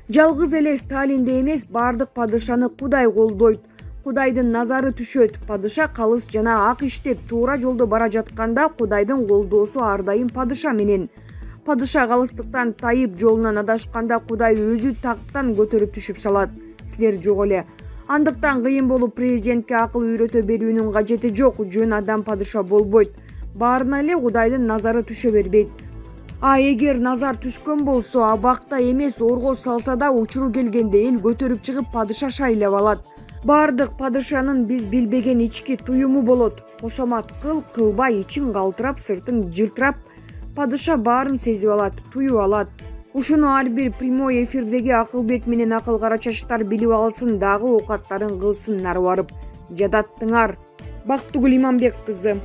Жалгыз эле Сталинди эмес, бардык падышаны Кудай колдойт. Кудайдын назары түшөт. Падыша калыс жана ак иштеп туура жолдо бара жатканда Кудайдын колдоосу ар дайым падыша менен. Падыша калыстыктан тайып жолунан адашканда Кудай өзү тактан көтөрүп түшүп салат. Силер жок эле. Андыктан кыйын болуп президентке акыл үйрөтө берүүнүн кажети жок. Жөн адам падыша болбойт. Баарына эле Кудайдын назары түшө бербейт. А эгер назар түшкөн болсо, абакта эмес орго салса да учуру келгенде эл көтөрүп чыгып падыша шайлап алат. Бардык падышанын биз билбеген ички туюму болот. Кошомат кыл, кылбай, ичиң калтырап, сыртың жылтырап, падыша баарын сезип алат, туюп алат. Ушуну ар бир прямой эфирдеги Акылбек менен Акыл Кара Чачтар билип алсын, дагы оокаттарын кылсын нары барып. Жадаттыңар. Бактыгүл Иманбек кызы.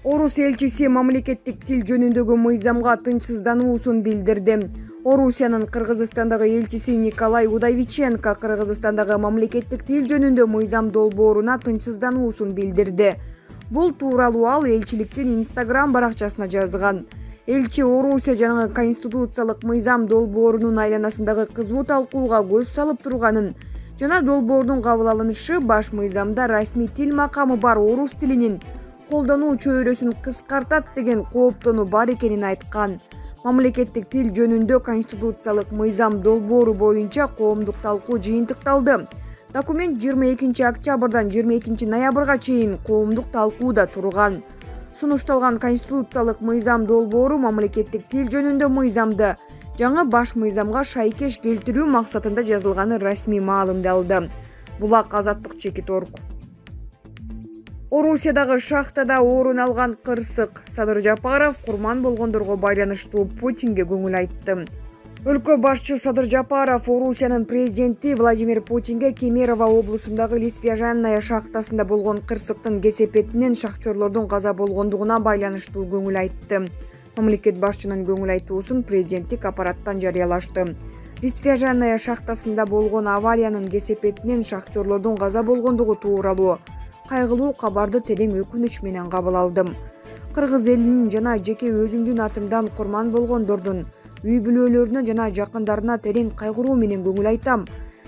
Орус элчиси мамлекеттик тил жөнүндөгү мыйзамга тынчсыздануусун билдирди. Орусиянын Кыргызстандагы элчиси Николай Удовиченко Кыргызстандагы мамлекеттик тил жөнүндө мыйзам долбооруна тынчсыздануусун билдирди. Бул тууралуу ал элчиликтин Instagram баракчасына жазган. Элчи Орусия жана конституциялык мыйзам долбоорунун айланасындагы кызуу талкууга көз салып турганын жана долбоордун кабыл алынышы баш мыйзамда расмий тил макамы бар орус тилинин колдонуу чөйрөсүн кыскартат деген кооптонуу бар экенин айткан. Мамлекеттик тил жөнүндө конституциялык мыйзам долбоору боюнча коомдук талкуу жыйынтыкталды. Документ 22 октябрдан 22 ноябрга чейин коомдук талкууда турган. Сунушталган конституциялык мыйзам долбоору мамлекеттик тил жөнүндө мыйзамды жаңы баш мыйзамга шайкеш келтирүү максатында жазылганы расмий маалымдалды. Булак Азаттык Чекит.орг. Орусиядагы шахтада орун алган кырсык. Садыр Жапаров курман болгондорго байланыштуу Путинге көңүл айтты. Өлкө башчы Садыр Жапаров Орусиянын президенти Владимир Путинге Кемерово облусундагы Лисвяжанная шахтасында болгон кырсыктын кесепетинен шахтерлордун каза болгондугуна байланыштуу көңүл айтты. Мамлекет башчынын көңүл айтуусун президенттик аппараттан жарыялашты. Лисвяжанная шахтасында болгон авариянын кесепетинен шахтерлордун каза болгондугу тууралуу кайгылуу кабарды терең өкүнүч менен кабыл алдым. Кыргыз элинин жана жеке өзүмдүн атымдан курман болгондордун үй бүлөлөрүнө жана жакындарына терең кайгыруу менен көңүл айтам.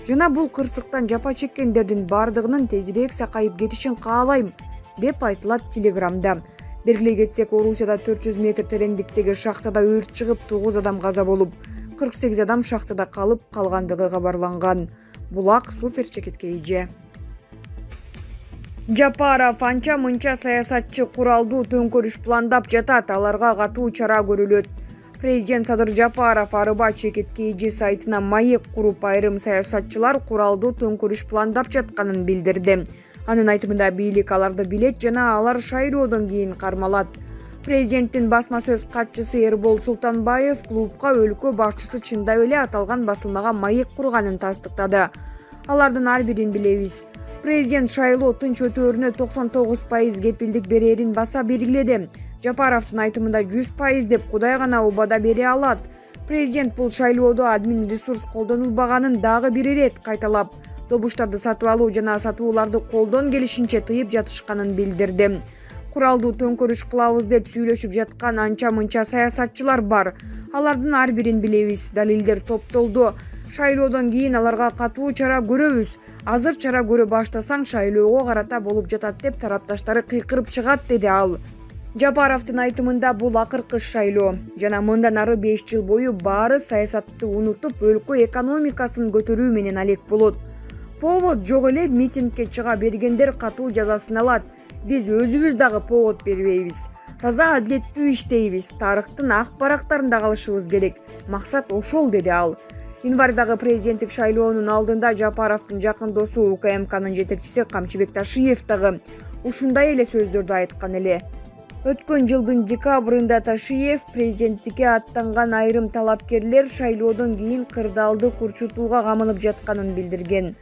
Жана бул кырсыктан жапа чеккендердин бардыгынын тезирээк сакайып кетишин каалайм, деп айтылат Телеграмда. Белгилей кетсек, Орусияда 400 метр тереңдиктеги шахтада өрт чыгып, 9 адам каза болуп, 48 адам шахтада калып калгандыгы кабарланган. Булак Супер Чекитке ийже. Жапаров анча-мынча саясатчы куралдуу төңкөрүш пландап жатат, аларга катуу чара көрүлөт. Президент Садыр Жапаров Арыба Чекитке ийже сайтына маек куруп, айрым саясатчылар куралдуу төңкөрүш пландап жатканын билдирди. Анын айтымында бийлик аларды билет жана алар шайлоодон кийин кармалат. Президенттин басма сөз катчысы Эрбол Султанбаев клубка өлкө башчысы чындап эле аталган басылмага маек курганын тастыктады. Алардын ар бирин билебиз. Президент шайлоо тынч өтөөрүнө 99% кепилдик берерин баса белгиледи. Жапаровдун айтымында 100% деп Кудай гана убада бере алат. Президент бул шайлоодо админ ресурс колдонулбаганын дагы бир ирет кайталап, добуштарды сатып алуу жана сатууларды колдон келишинче тыйып жатышканын билдирди. Куралдуу төңкөрүш кылабыз деп сүйлөшүп жаткан анча-мынча саясатчылар бар. Алардын ар бирин билебиз. Далилдер топтолду. Шайлоодон кийин аларга катуу чара көрөбүз. Азыр чара көрө баштасаң шайлоого карата болуп жатат деп тарапташтары кыйкырып чыгат, деди ал. Жапаровдун айтымында бул акыркы шайлоо жана мындан ары 5 жыл бою баары саясатты унутуп, өлкө экономикасын көтөрүү менен алек болот. Повод жок эле, митингге чыга бергендер катуу жазасын алат. Биз өзүбүз дагы повод бербейбиз. Таза адилеттүү иштейбиз. Тарыхтын ак барактарында калышыбыз керек. Максат ошол, деди ал. Январдагы президенттик шайлоонун алдында Жапаровдун жакын досу УКМКнын жетекчиси Камчыбек Ташиев дагы ушундай эле сөздөрдү айткан эле. Өткөн жылдын декабрында Ташиев президенттикке аттанган айрым талапкерлер шайлоодон кийин кырдаалды курчутууга камынып жатканын билдирген.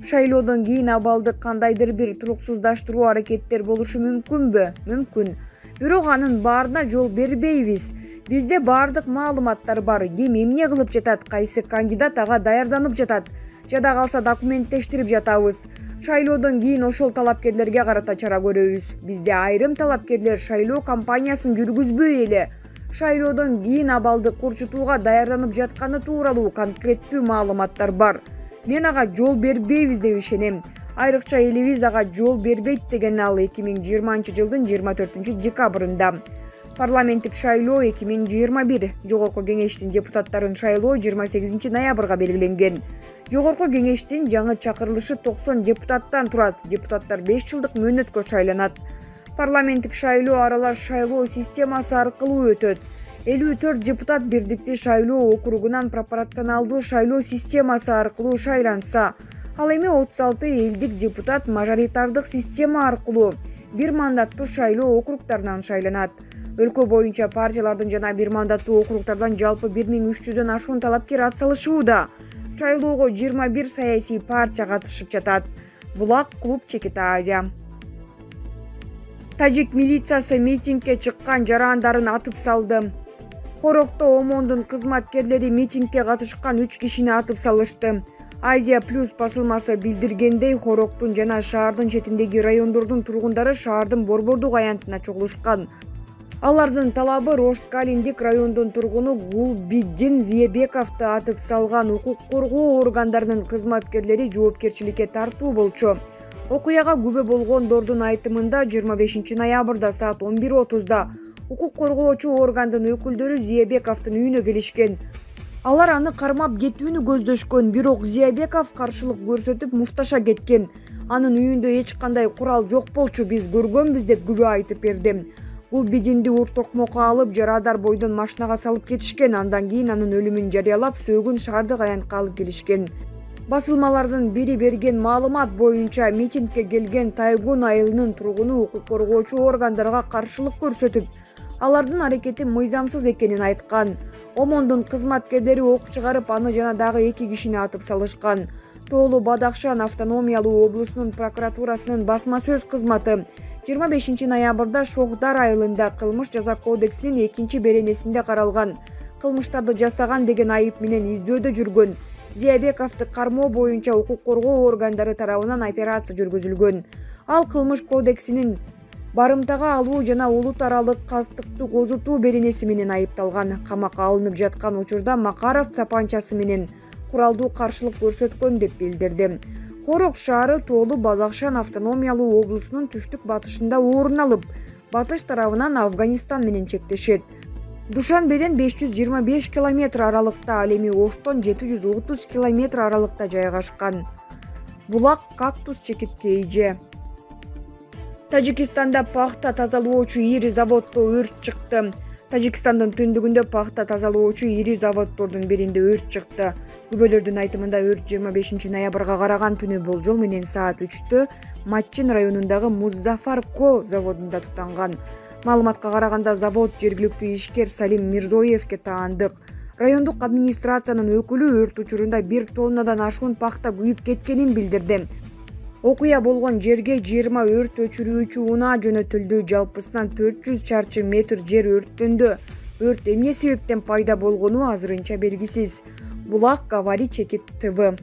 Шайлоодон кийин абалды кандайдыр бир туруксуздаштыруу аракеттер болушу мүмкүнбү? Мүмкүн. Бирок анын баарына жол бербейбиз. Бизде баардык маалыматтар бар. Ким эмне кылып жатат, кайсы кандидат ага даярданып жатат. Жада калса документтештирип жатабыз. Шайлоодон кийин ошол талапкерлерге карата чара көрөбүз. Бизде айрым талапкерлер шайлоо кампаниясын жүргүзбөй эле Шайлоодон кийин абалды курчутууга даярданып жатканы тууралуу конкреттүү маалыматтар бар. Мен ага жол бербейбиз деп ишенем. Айрыкча элибиз ага жол бербейт деген ал 2020-жылдын 24-декабрында. Парламенттик шайлоо 2021, Жогорку кеңештин депутаттарын шайлоо 28 ноябрга белгиленген. Жогорку кеңештин жаңы чакырылышы 90 депутаттан турат. Депутаттар 5 жылдык мөөнөткө шайланат. Парламенттик шайлоо аралаш шайлоо системасы аркылуу өтөт. 54 депутат бирдиктүү шайлоо округунан пропорционалдуу шайлоо системасы аркылуу шайланса, ал эми 36 элдик депутат мажоритардык система аркылуу бир мандаттуу шайлоо округтарынан шайланат. Өлкө боюнча партиялардын жана бир мандаттуу округтардан жалпы 1300дөн ашуун талапкер атсалышууда. Шайлоого 21 саясий партия катышып жатат. Булак клуб Чекит Азия. Тажик милициясы митингге чыккан жарандарын атып салды. Хорокто ОМОНдун кызматкерлери митингге катышкан 3 кишини атып салышты. Азия Плюс басылмасы билдиргендей, Хороктун жана шаардын четиндеги райондордун тургундары шаардын борбордук аянтына чогулушкан. Алардын талабы Рошткалиндик райондун тургуну Гулбиддин Зиебековду атып салган укук коргоо органдарынын кызматкерлери жоопкерчиликке тартуу болчу. Окуяга күбө болгондордун айтымында 25 ноябрда саат 11:30 укук коргоочу органдын өкүлдөрү Зиебековдун үйүнө келишкен. Алар аны кармап кетүүнү көздөшкөн, бирок Зиебеков каршылык көрсөтүп мушташа кеткен. Анын үйүндө эч кандай курал жок болчу, биз көргөнбүз деп күбө айтып берди. Гулбидинди урт токмокко алып, жарадар бойдон машинага салып кетишкен. Андан кийин анын өлүмүн жарыялап, сөөгүн шаардык аянтка алып келишкен. Басылмалардын бири берген маалымат боюнча, митингге келген Тайгун айылынын тургуну укук коргоочу органдарга каршылык көрсөтүп, алардын аракети мыйзамсыз экенин айткан. ОМОНдун кызматкерлери ок чыгарып, аны жана дагы 2 кишини атып салышкан. Тоолу Бадахшан автономиялуу облусунун прокуратурасынын басма сөз кызматы 25 ноябрда Шохдар айылында кылмыш жаза кодексинин 2-беренесинде каралган кылмыштарды жасаган деген айып менен издөөдө жүргөн Зиебековду кармоо боюнча укук коргоо органдары тарабынан операция жүргүзүлгөн. Ал кылмыш кодексинин барымтага алуу жана улут аралык кастыктуу козутуу беренеси менен айыпталган. Камакка алынып жаткан учурда Макаров тапанчасы менен куралдуу каршылык көрсөткөн деп билдирди. Хорок шаары Тоолу Бадахшан автономиялуу облусунун түштүк батышында орун алып, батыш тарабынан Афганистан менен чектешет. Душанбеден 525 километр аралыкта, ал эми Оштон 730 километр аралыкта жайгашкан. Булак Кактус Чекит Кейже. Тажикстанда пахта тазалоочу ири заводдо өрт чыкты. Тажикстандын түндүгүндө пахта тазалоочу ири заводдордун биринде өрт чыкты. Күбөлөрдүн айтымында өрт 25 ноябрга караган түнү болжол менен саат 3-тө Матчин районундагы Музафар-Ко заводунда тутанган. Маалыматка караганда завод жергиликтүү ишкер Салим Мирзоевке таандык. Райондук администрациянын өкүлү өрт учурунда 1 тоннадан ашуун пахта күйүп кеткенин билдирди. Окуя болгон жерге 20 өрт өчүрүүчү унаа жөнөтүлдү. Жалпысынан 400 чарчы метр жер өрттөндү. Өрт эмне себептен пайда болгону азырынча белгисиз. Булак Кавари Чекит ТВ.